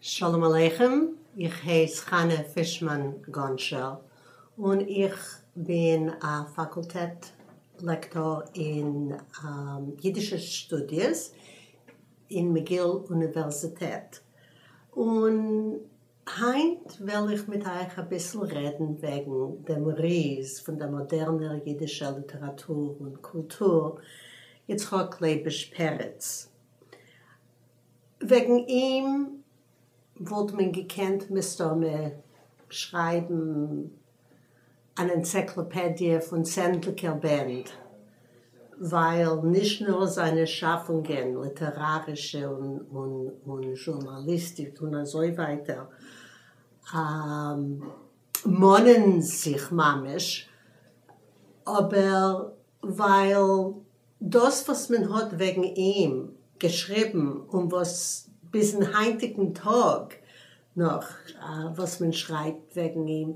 שלום עליכם, איך הייס חנה פישמאן גאנשער און איך בין א פאקולטעט לעקטאר אין אידישע שטודיעס אין מגיל אוניווערזיטעט, און היינט וועל איך מיט אייך אביסל רעדן וועגן דעם ריז פון דער מאדערנער אידישער ליטעראטור און קולטור, יצחק לייביש פרץ. וועגן אים וואלט מען געקענט מסתמא שרייבן אן ענציקלאפעדיע פון צענדליגער בענד, ווייל נישט נאר זיינע שאפונגען, ליטערארישע און זשורנאליסטיק און אזוי ווייטער, מאנען זיך ממש, אבער ווייל דאס וואס מען האט וועגן אים געשריבן און וואס ביזן היינטיגן טאג נאך וואס מען שרייבט וועגן אים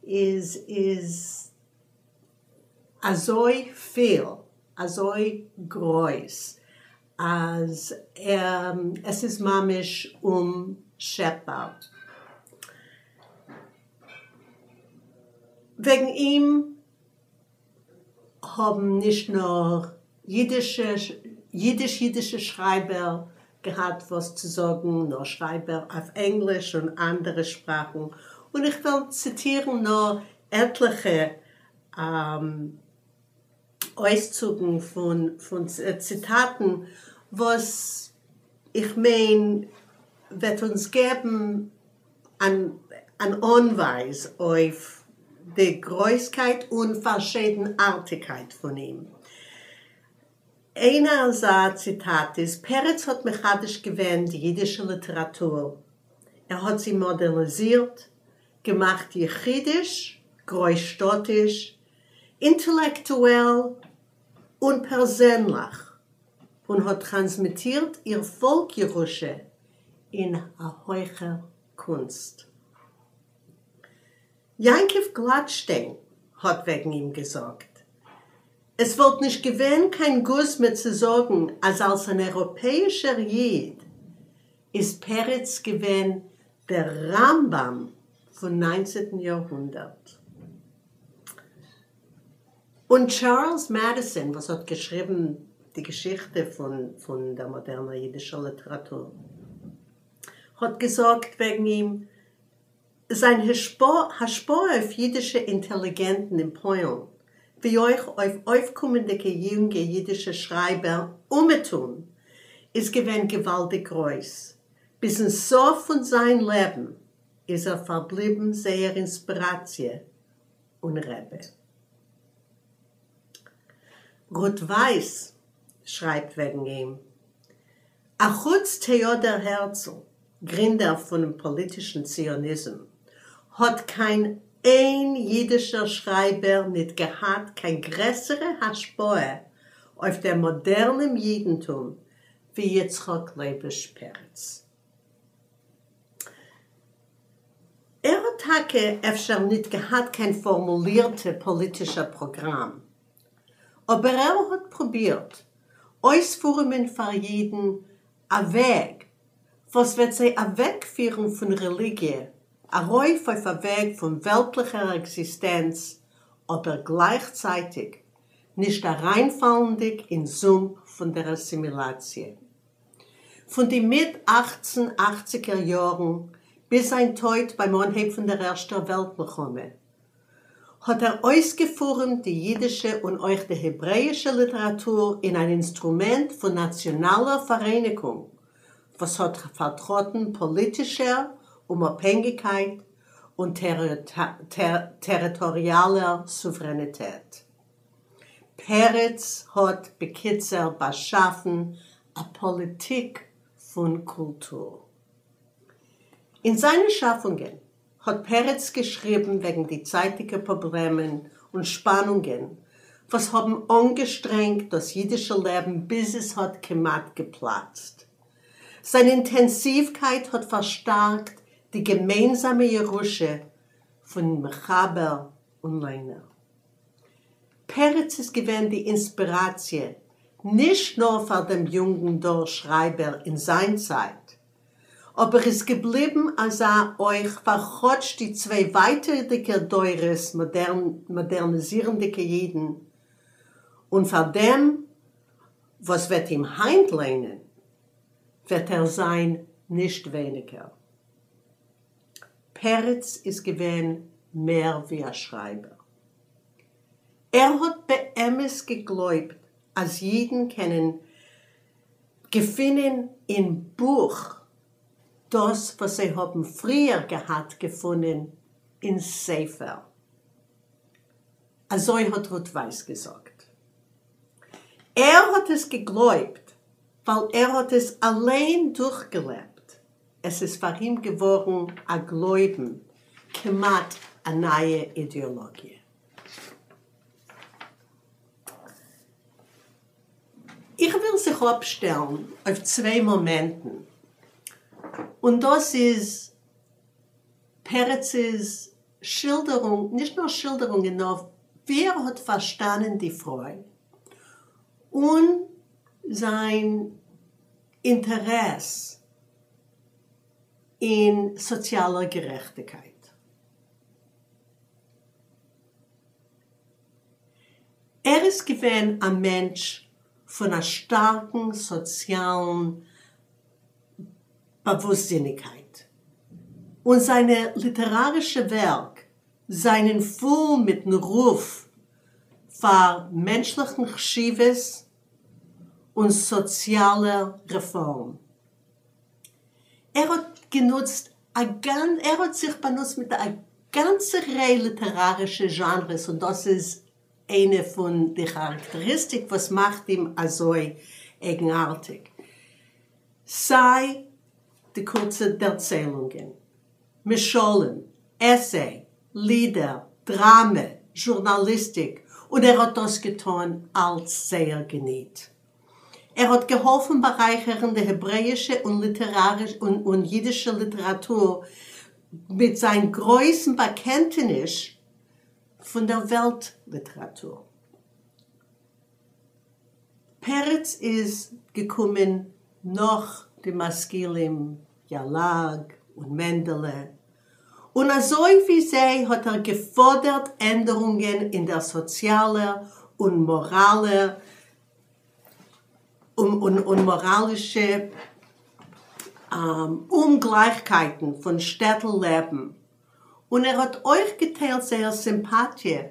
איז איז אזוי פיל, אזוי גרויס, אז עס איז ממש אומשעפבאר. וועגן אים האבן נישט נאר אידישע, אידיש-אידישע שרייבער געהאט וואס צו זאגן, נאר שרייבער אויף ענגליש און אנדערע שפראכן, און איך וועל ציטירן נאר עטליכע אויסצוגן פון ציטאטן וואס איך מיין וועט אונז געבן אן אנווייז אויף די גרויסקייט און פארשיידנארטיגקייט פון אים. איין אזא ציטאט איז, פרץ האט מחדש געווען די אידישע ליטעראטור, ער האט זי מאדערניזירט, געמאכט יחידיש, גרויסשטאטיש, אינטעלעקטועל און פערזענליך, און האט טראנסמיטירט איר פאלק-ירושה אין א הויכער קונסט. יעקב גלאטשטיין האט וועגן אים געזאגט, עס וואלט נישט געווען קיין גוזמא צו זאגן אז אלס אן אייראפעאישער איד איז פרץ געווען דער רמב"ם פון ניינצעטן יארהונדערט. און טשארלס מעדיסאן וואס האט געשריבן די געשיכטע פון דער מאדערנער אידישער ליטעראטור האט געזאגט וועגן אים, זיין השפעה אויף אידישע אינטעליגענטן אין פוילן, ווי אויך אויף אויפקומענדיגע יונגע אידישע שרייבער אומעטום, איז געווען געוואלדיג גרויס. ביזן סוף פון זיין לעבן איז ער פארבליבן זייער אינספיראציע און רבי. רות ווייס שרייבט וועגן אים, אחוץ טעאדער הערצל, גרינדער פונעם פאליטישן ציוניזם, האט קיין איין אידישער שרייבער ניט געהאט קיין גרעסערע השפעה אויף דעם מאדערנעם אידנטום ווי יצחק לייבוש פרץ. ער האט טאקע אפשר ניט געהאט קיין פארמולירטע פאליטישע פראגראם, אבער ער האט פרובירט אויספורעמען פאר אידן א וועג וואס וועט זיי אוועקפירן פון רעליגיע ארויף אויף א וועג פון וועלטליכער עקזיסטענץ, אבער גלייכצייטיג נישט אריינפאלנדיג אין זומפ פון דער אסימילאציע. פון די מיט אכצן אכציגער יארן ביז זיין טויט ביים אנהייב פון דער ערשטער וועלט מלחמה, האט ער אויסגעפורעמט די אידישע און אויך די העברעאישע ליטעראטור אין אן אינסטרומענט פון נאציאנאלער פאראייניגונג וואס האט פארטראטן פאליטישער אומאפהענגיקייט און טעריטאריאלער סואוורעניטעט. פרץ האט בקיצור באשאפן א פאליטיק פון קולטור. אין זיינע שאפונגען האט פרץ געשריבן וועגן די צייטיגע פראבלעמען און שפאנונגען וואס האבן אנגעשטרענגט דאס אידישע לעבן ביז עס האט כמעט געפלאצט. זיין אינטענסיווקייט האט פארשטארקט די געמיינזאמע ירושה פון מחבר און ליינער. פרץ איז געווען די אינספיראציע נישט נאר פאר דעם יונגן דור שרייבער אין זיין צייט, אבער איז געבליבן אזא אויך פאר כאטש די צוויי ווייטערדיגע דורות מאדערניזירנדיגע אידן, און פאר דעם וואס וועט אים היינט ליינען וועט ער זיין נישט ווייניגער. פרץ איז געווען מער ווי א שרייבער. ער האט באמת געגלויבט אז אידן קענען געפינען אין בוך דאס וואס זיי האבן פריער געהאט געפונען אין ספר. אזוי האט רות ווייס געזאגט. ער האט עס געגלויבט ווייל ער האט עס אליין דורכגעלעבט, עס איז פאר אים געווארן א גלויבן, כמעט א נייע אידעאלאגיע. איך וויל זיך אפשטעלן אויף צוויי מאמענטן, און דאס איז פרצ'ס שילדערונג, נישט נאר שילדערונגען נאר ווי ער האט פארשטאנען די פרוי, און זיין אינטערעס אין סאציאלער גערעכטיגקייט. ער איז געווען א מענטש פון א שטארקן סאציאלן באוואוסטזיניגקייט, און זיינע ליטערארישע ווערק זענען פול מיטן רוף פאר מענטשליכן חשיבות און סאציאלער רעפארם. ער האט גענוצט א גאנ ער האט זיך באנוצט מיט א גאנצע ריי ליטערארישע זשאנרעס און דאס איז איינע פון די כאראקטעריסטיק וואס מאכט אים אזוי אייגנארטיג. סיי די קורצע דערציילונגען, משלים, עסיי, לידער, דראמע, זשורנאליסטיק, און ער האט דאס געטאן אלץ זייער געניט. ער האט געהאלפן בארייכערן די העברעאישע און אידישע ליטעראטור מיט זיין גרויסן באקענטעניש פון דער וועלט ליטעראטור. פרץ איז געקומען נאך די משכילים יל"ג און מענדעלע, און אזוי ווי זיי האט ער געפאדערט ענדערונגען אין דער סאציאלער און מאראלער און מאראלישע אומגלייכקייטן פון שטעטל לעבן, און ער האט אויך געטיילט זייער סימפאטיע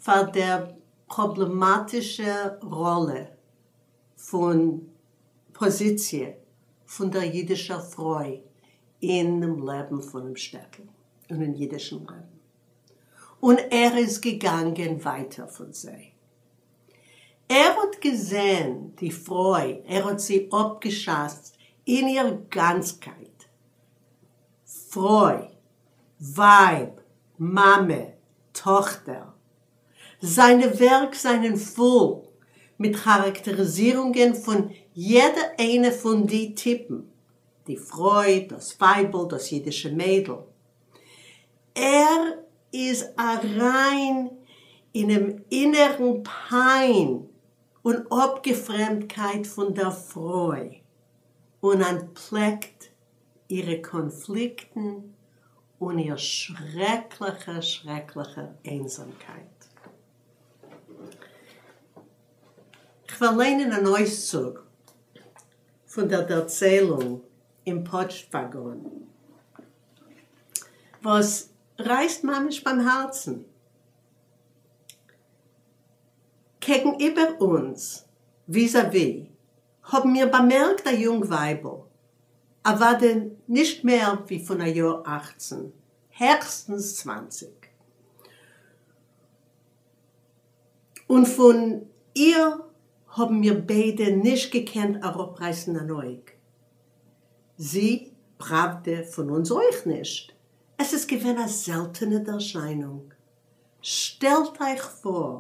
פאר דער פראבלעמאטישער ראלע פון פאזיציע פון דער אידישער פרוי אינעם לעבן פונעם שטעטל און אין אידישן לעבן, און ער איז געגאנגען ווייטער פון זיי. ער האט געזען די פרוי, ער האט זי אפגעשאצט אין איר גאנצקייט, פרוי, ווייב, מאמע, טאכטער. זיינע ווערק זענען פול מיט כאראקטעריזירונגען פון יעדע איינע פון די טיפן, די פרוי, דאס ווייבל, דאס אידישע מיידל. ער איז אריין אינעם אינערן פיין און אפגעפרעמדקייט פון דער פרוי און אנטפלעקט אירע קאנפליקטן און איר שרעקליכע שרעקליכע איינזאמקייט. כ'וועל ליינען אן אויסצוג פון דער דערציילונג אין פאטשט-וואגאן, וואס רייסט ממש ביים הארצן. קעגן איבער אונז, וויזא-ווי, האבן מיר באמערקט א יונג ווייבל, אוודאי נישט מער ווי פון א יאר אכצן, העכסטנס צוואנציג, און פון איר האבן מיר ביידע נישט געקענט אראפרייסן אן אויג. זי, פראוודע, פון אונז אויך נישט. עס איז געווען א זעלטענע ערשיינונג. שטעלט אייך פאר,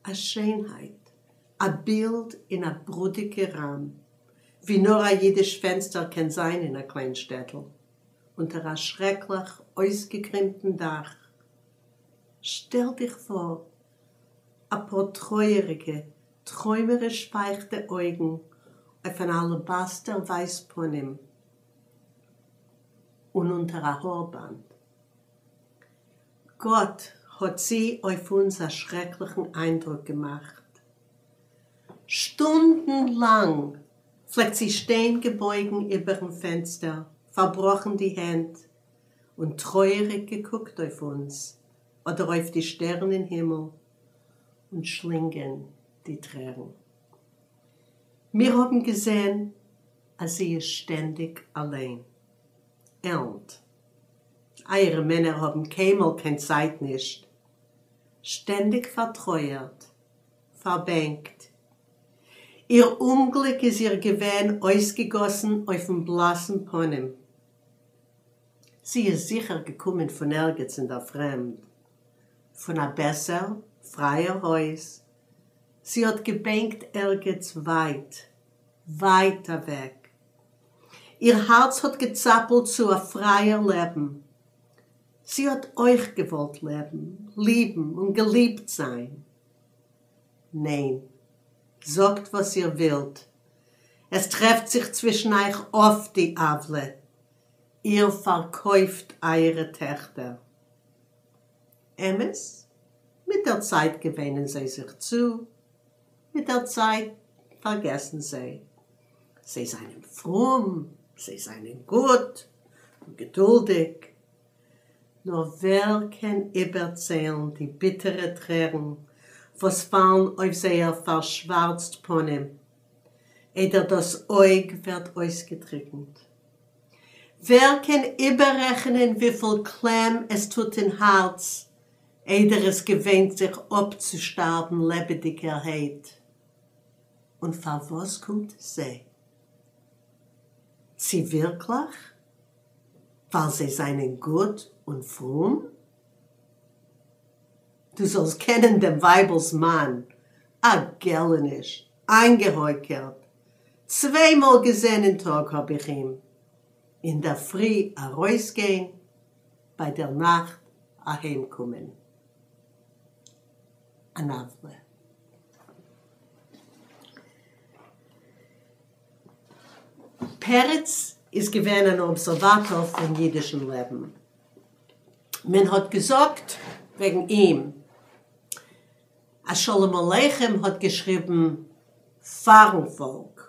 א שיינהייט, א בילד אין א ברודיגע ראם, ווי נאר א אידיש פענסטער קען זיין אין א קליין שטעטל, אונטער א שרעקליך אויסגעקרימטן דאך. שטעל דיך פאר, א פאר טרויעריגע, טרוימעריש פייכטע אויגן אויף אן אלעבאסטער ווייס פנים. און אונטער א הארבאנד. גאט, האט זי אויף אונז א שרעקליכן איינדרוק געמאכט. שטונדן לאנג פלעגט זי שטיין געבויגן איבערן פענסטער, פארבראכן די הענט, און טרויעריג געקוקט אויף אונז, אדער אויף די שטערן אין הימל, און שלינגען די טרערן. מיר האבן געזען אז זי איז שטענדיג אליין. עלנט. אייערע מענער האבן קיינמאל קיין צייט נישט. שטענדיג פארטרויערט, פארבענקט. איר אומגליק איז איר געווען אויסגעגאסן אויפן בלאסן פנים. זי איז זיכער געקומען פון ערגעץ אין דער פרעמד, פון א בעסער, פרייער הויז. זי האט געבענקט ערגעץ ווייט, ווייט אוועק. איר הארץ האט געצאפלט צו א פרייער לעבן. זי האט אויך געוואלט לעבן, ליבן און געליבט זיין. ניין, זאגט וואס איר ווילט, עס טרעפט זיך צווישן אייך אפט די עוולה, איר פארקויפט אייערע טעכטער. אמת, מיט דער צייט געוויינען זיי זיך צו, מיט דער צייט פארגעסן זיי. זיי זיינען פרום, זיי זיינען גוט און געדולדיג. נאר ווער קען איבערציילן די ביטערע טרערן וואס פאלן אויף זייער פארשווארצט פנים, איידער דאס אויג ווערט אויסגעטריקנט? ווער קען איבעררעכענען וויפיל קלעם עס טוט אין הארץ איידער עס געוויינט זיך אפצושטארבן לעבעדיגערהייט? און פארוואס קומט עס זיי? צי ווירקליך ווייל זיי זענען גוט און פרום? דו זאלסט קענען דעם ווייבל'ס מאן, א געלעניש, איינגעהויקערט, צוויי מאל געזען אין טאג האב איך אים, אינדערפרי ארויסגיין, ביי דער נאכט אהיימקומען. אן עוולה. פרץ איז געווען אן אבזערוואטאר פון אידישן לעבן. מען האט געזאגט וועגן אים אז שלום עליכם האט געשריבן פארן פאלק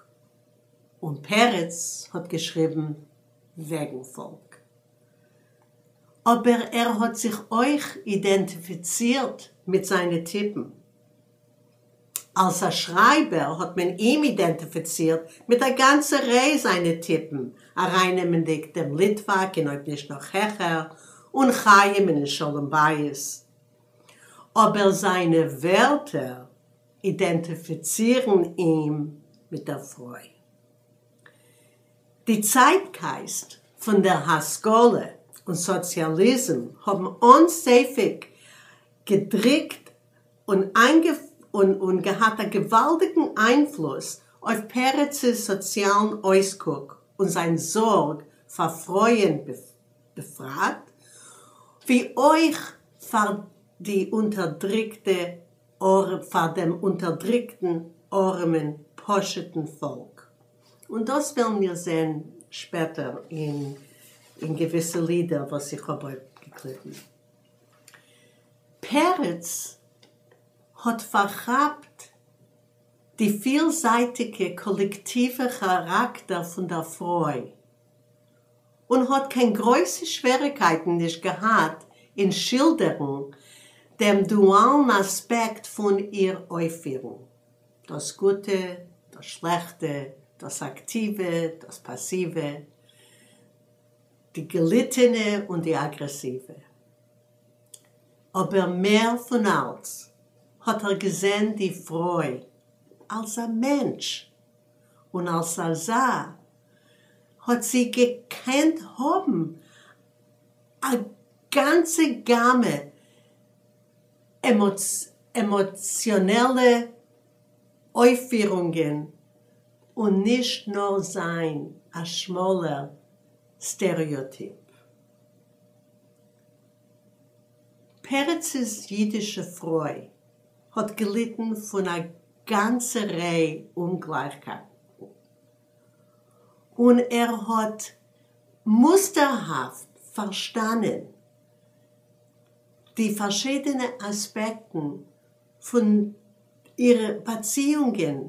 און פרץ האט געשריבן וועגן פאלק. אבער ער האט זיך אויך אידענטיפיצירט מיט זיינע טיפן. אלס א שרייבער האט מען אים אידענטיפיצירט מיט א גאנצע ריי זיינע טיפן, ארייננעמענדיג דעם ליטוואק אין אויב נישט נאך העכער, און חיים אין שלום בית. אבער זיינע ווערטער אידענטיפיצירן אים מיט דער פרוי. די צייטגייסט פון דער השכלה און סאציאליזם האבן אן ספק געדריקט און און געהאט א געוואלדיגן איינפלוס אויף פרצ'ס סאציאלן אויסקוק און זיין זארג פאר פרויען בפרט, ווי אויך פאר די אונטערדריקטע פאר דעם אונטערדריקטן ארעמען פשוט'ן פאלק. און דאס וועלן מיר זען שפעטער אין אין געוויסע לידער וואס איך האב אויפגעקליבן. פרץ האט פארכאפט די פילזייטיגע קאלעקטיווע כאראקטער פון דער פרוי, און האט קיין גרויסע שוועריקייטן נישט געהאט אין שילדערן דעם דואלן אספעקט פון איר אויפפירונג, דאס גוטע, דאס שלעכטע, דאס אקטיווע, דאס פאסיווע, די געליטענע און די אגרעסיווע. אבער מער פון אלץ האט ער געזען די פרוי אלס א מענטש, און אלס אזא האט זי געקענט האבן א גאנצע גאמע עמאציאנעלע אויפפירונגען און נישט נאר זיין א שמאלער סטעריאטיפ. פרצ'ס אידישע פרוי האט געליטן פון א גאנצע ריי אומגלייכקייטן, און ער האט. מוסטערהאפט פארשטאנען די פארשידענע אספעקטן פון אירע באציאונגען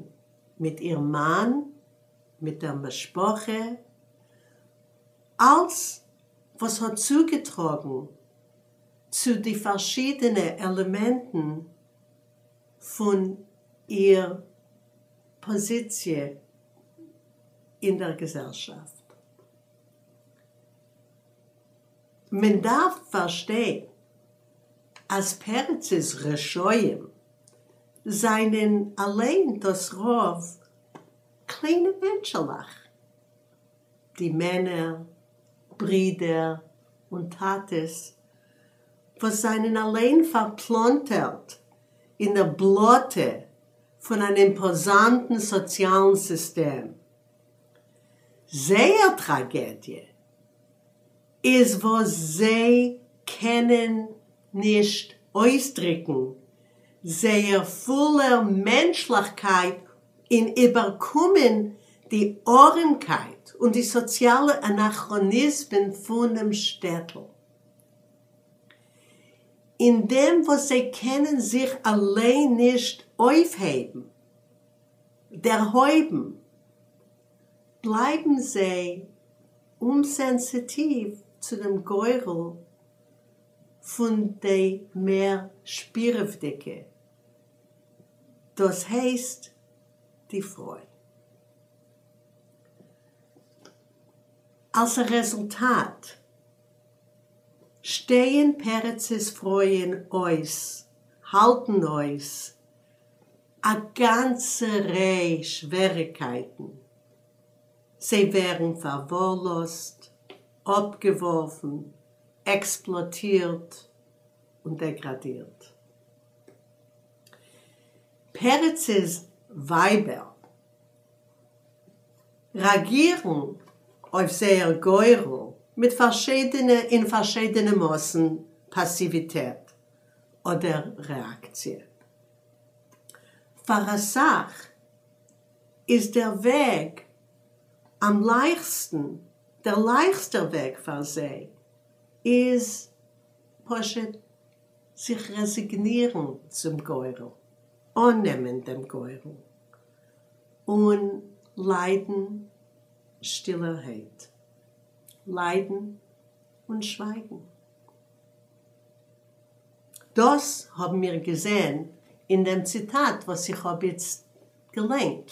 מיט איר מאן, מיט דער משפחה, אלץ וואס האט צוגעטראגן צו די פארשידענע עלעמענטן פון איר פאזיציע אין דער געזעלשאפט. מען דארף פארשטיין אז פרצ'ס רשעים זענען אליין דאס רוב קליינע מענטשעלעך, די מענער, ברידער און טאטעס וואס זענען אליין פארפלאנטערט אין דער בלאטע פון אן אימפאזאנטן סאציאלן סיסטעם. זייער טראגעדיע איז וואס זיי קענען נישט אויסדריקן זייער פולער מענטשליכקייט און איבערקומען די ארעמקייט און די סאציאלע אנאכראניזמען פונעם שטעטל. אין דעם וואס זיי קענען זיך אליין נישט אויפהייבן, דערהויבן, בלייבן זיי אומסענסיטיוו צו דעם גורל פון די מער שפירעוודיגע, דאס הייסט די פרוי. אלס א רעזולטאט שטייען פרצ'ס פרויען אויס, האלטן אויס, א גאנצע ריי שוועריגקייטן, זיי ווערן פארווארלאזט, אפגעווארפן, עקספלאטירט און דעגראדירט. פרצ'ס ווייבער רעאגירן אויף זייער גורל מיט פארשידענע אין פארשידענע מאסן פאסיוויטעט אדער רעאקציע. פאר אסאך איז דער וועג אם לייכסטן, דער לייכסטער וועג פאר זיי איז פשוט זיך רעזיגנירן צום גורל, אננעמען דעם גורל, און ליידן שטילערהייט, ליידן און שווייגן. דאס האבן מיר געזען אין דעם ציטאט וואס איך האב איצט געליינט.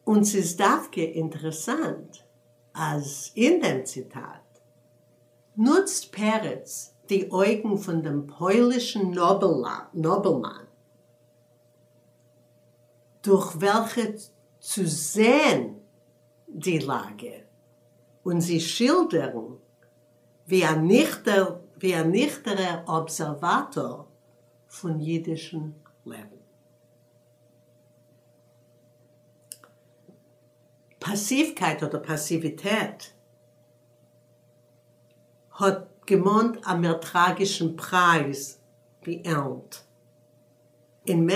און ס'איז דווקא אינטערעסאנט אז אין דעם ציטאט נוצט פרץ די אויגן פון דעם פוילישן נאבעלמאן דורך וועלכע צו זען די לאגע און זי שילדערן ווי א ניכטער ווי א ניכטערער אבזערוואטאר פון אידישן לעבן. פאסיווקייט אדער פאסיוויטעט האט געמאנט א מער טראגישן פרייז ווי עלנט. אין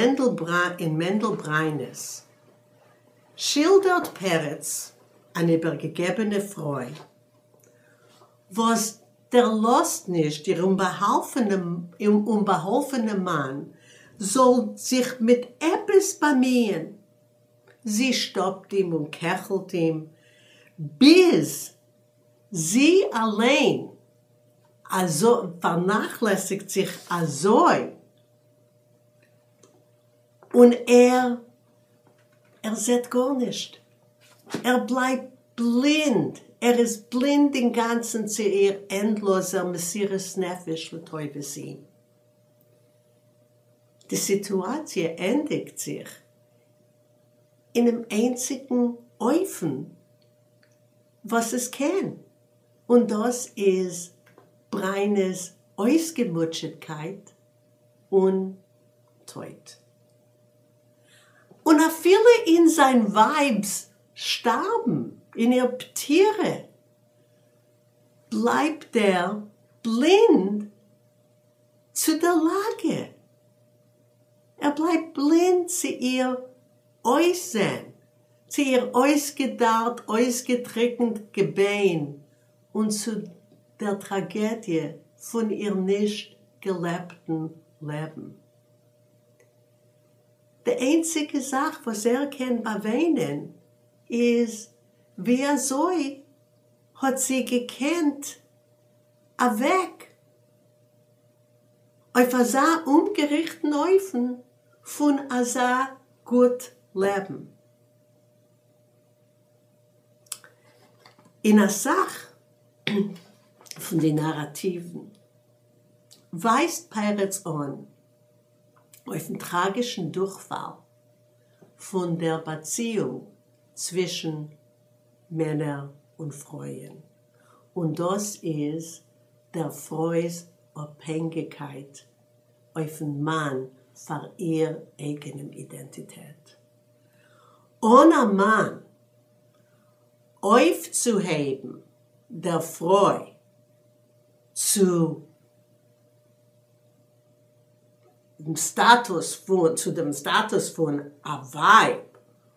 אין מענדל בריינעס שילדערט פרץ אן איבערגעגעבענע פרוי וואס דערלאזט נישט איר אומבאהאלפענעם מאן זאל זיך מיט עפעס באמיען, זי שטאפט אים און קעכלט אים ביז זי אליין פארנאכלעסיגט זיך אזוי און ער, ער זעט גארנישט, ער בלייבט בלינד, ער איז בלינד אינגאנצן צו איר ענדלאזער מסירות נפש לטובת אים. די סיטואציע ענדיגט זיך אינעם איינציגן אופן וואס עס קען, און דאס איז בריינע'ס אויסגעמוטשעטקייט און טויט. און אפילו אין זיין ווייב'ס שטארבן, אין איר פטירה, בלייבט ער בלינד צו דער לאגע. ער בלייבט בלינד צו איר אויסזען, צו איר אויסגעדארט אויסגעטריקנט געביין און צו דער טראגעדיע פון איר נישט געלעבטן לעבן. די איינציגע זאך וואס ער קען באוויינען איז ווי אזוי האט זי געקענט אוועק אויף אזא אומגעריכטן אופן פון אזא גוט לעבן. אין א סך פון די נאראטיוון ווייזט פרץ אן אויפן טראגישן דורכפאל פון דער באציאונג צווישן מענער און פרויען, און דאס איז דער פרוי'ס אפהענגיקייט אויפן מאן פאר איר אייגענעם אידענטיטעט. אן א מאן אויפצוהייבן דער פרוי צו דעם סטאטוס פון צו דעם סטאטוס פון א ווייב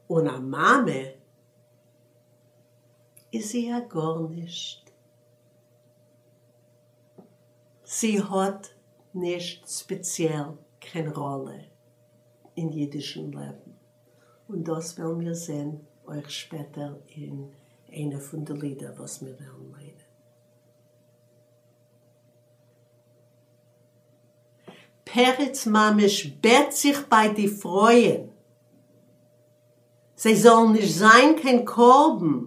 און א מאמע, איז זי א גארנישט. זי האט נישט ספעציעל קיין ראלע אין אידישן לעבן, און דאס וועלן מיר זען אויך שפעטער אין איינע פון די לידער וואס מיר וועלן ליינען. פרץ ממש בעט זיך ביי די פרויען זיי זאלן נישט זיין קיין קרבן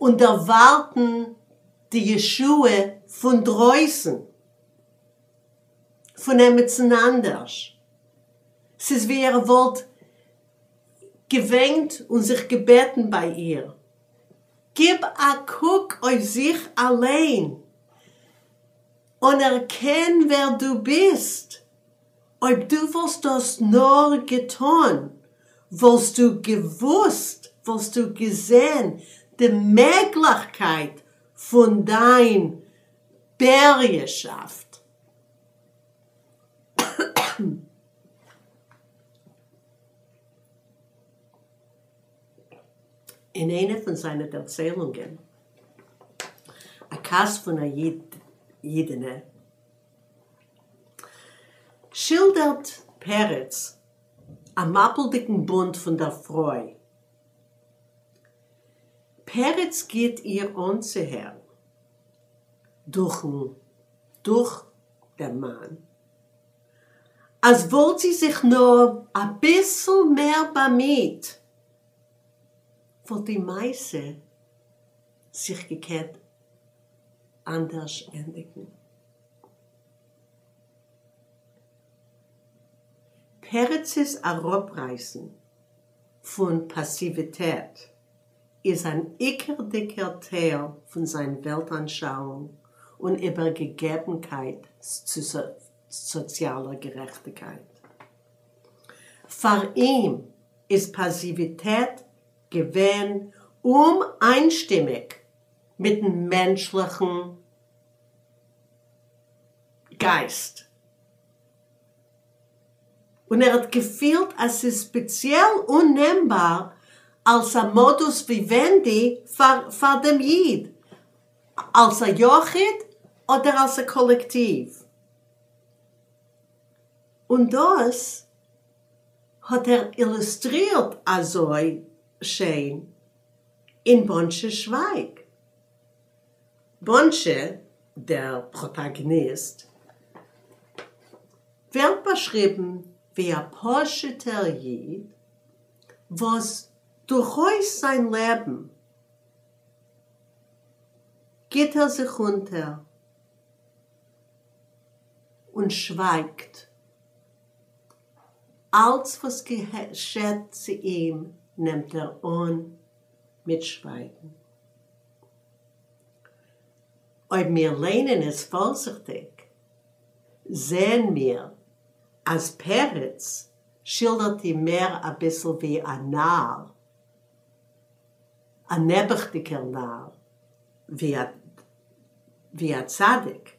און דערווארטן די ישועה פון דרויסן, פון עמיצן אנדערש. ס'איז ווי ער וואלט געוויינט און זיך געבעטן ביי איר, גיב א קוק אויף זיך אליין, אנערקען ווער דו ביסט, אויב דו וואלסט דאס נאר געטון, וואלסטו געוואוסט, וואלסטו געזען די מעגליכקייט פון דיין בריהשאפט. אין איינע פון זיינע דערציילונגען, א כעס פון א אידענע, שילדערט פרץ א מפל'דיגן בונט פון דער פרוי. פרץ גיט איר אנצוהערן דורכן דורך דעם מאן, אז וואלט זי זיך נאר אביסל מער באמיהט, וואלט די מעשה זיך געקענט אנדערש ענדיגן. פרצ'ס אראפרייסן פון פאסיוויטעט איז אן עיקר'דיגער טייל פון זיין וועלט-אנשאונג און איבערגעגעבנקייט צו סאציאלער גערעכטיגקייט. פאר אים איז פאסיוויטעט געווען אומאיינשטימיג מיט'ן מענטשליכן גייסט, און ער האט געפילט אז ס'איז ספעציעל אננעמבאר אלס א מאדוס וויווענדי פאר פאר דעם איד, אלס א יחיד אדער אלס א קאלעקטיוו. און דאס האט ער אילוסטרירט אזוי שיין אין באנטשע שווייג. באנטשע, דער פראטאגאניסט, ווערט באשריבן ווי א פשוט'ער איד וואס דורכאויס זיין לעבן גיט ער זיך אונטער און שווייגט. אלץ וואס געשעט צו אים נעמט ער אן מיט שווייגן. אויב מיר ליינען עס פארזיכטיג, זעען מיר אז פרץ שילדערט אים מער אביסל ווי א נאר, א נעבעכדיגער נאר, ווי א צדיק.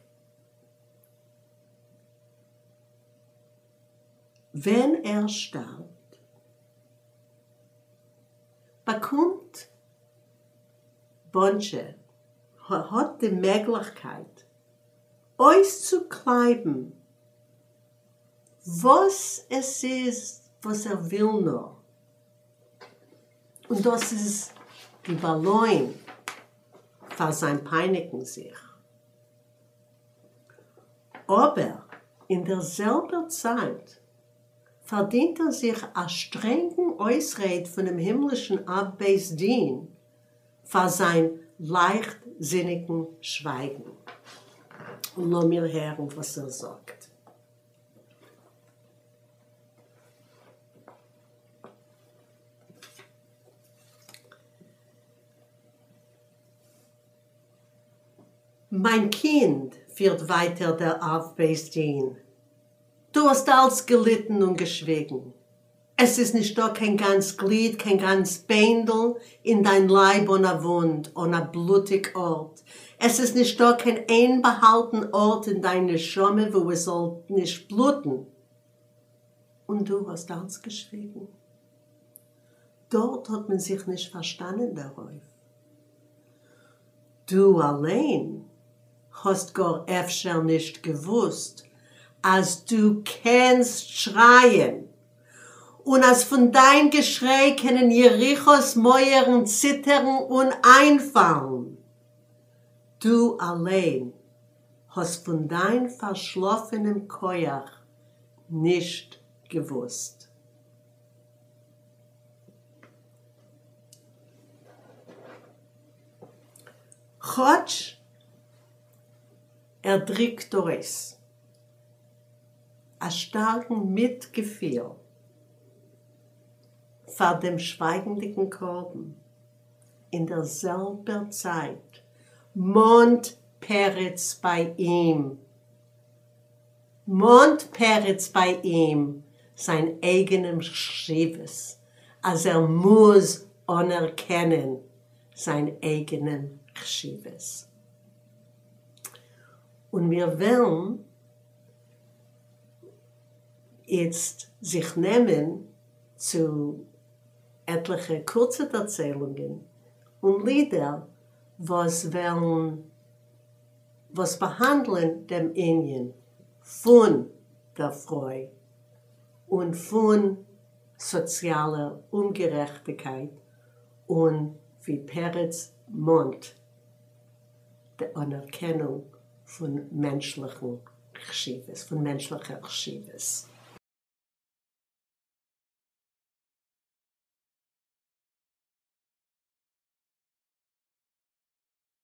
ווען ער שטארבט. באקומט באנטשע האט די מעגליכקייט אויסצוקלייבן וואס עס איז וואס ער וויל נאר, און דאס איז די באלוין פאר זיין פייניגן זיך. אבער אין דער זעלבער צייט פארדינט ער זיך א שטרענגן אויסרעד פונעם הימלישן אב בית דין פאר זיין לייכטזיניגן שווייגן. און לאמיר הערן וואס ער זאגט. מיין קינד, פירט ווייטער דער אב בית דין, דו האסט אלץ געליטן און געשוויגן. עס איז נישטא קיין גאנץ גליד, קיין גאנץ ביינדל אין דיין לייב אן א וואונד, אן א בלוטיג ארט. עס איז נישטא קיין איין באהאלטן ארט אין דיין נשמה וואו עס זאל נישט בלוטן. און דו האסט אלץ געשוויגן. דארט האט מען זיך נישט פארשטאנען דערויף. דו אליין האסט גאר אפשר נישט געוואוסט אז דו קענסט שרייען, און אז פון דיין געשריי קענען יריחו'ס מויערן ציטערן און איינפאלן. דו אליין האסט פון דיין פארשלאפענעם כח נישט געוואוסט. כאטש ער דריקט אויס א שטארקן מיטגעפיל פאר דעם שווייגנדיגן קרבן, אין דער זעלבער צייט מאנט פרץ ביי אים מאנט פרץ ביי אים זיין אייגענעם חשיבות, אז ער מוז אנערקענען זיין אייגענעם חשיבות. און מיר וועלן איצט זיך נעמען צו עטליכע קורצע דערציילונגען און לידער וואס וועלן וואס באהאנדלען דעם ענין פון דער פרוי און פון סאציאלער אומגערעכטיקייט און ווי פרץ מאנט די אנערקענונג פון מענטשליכן חשיבות, פון מענטשליכער חשיבות.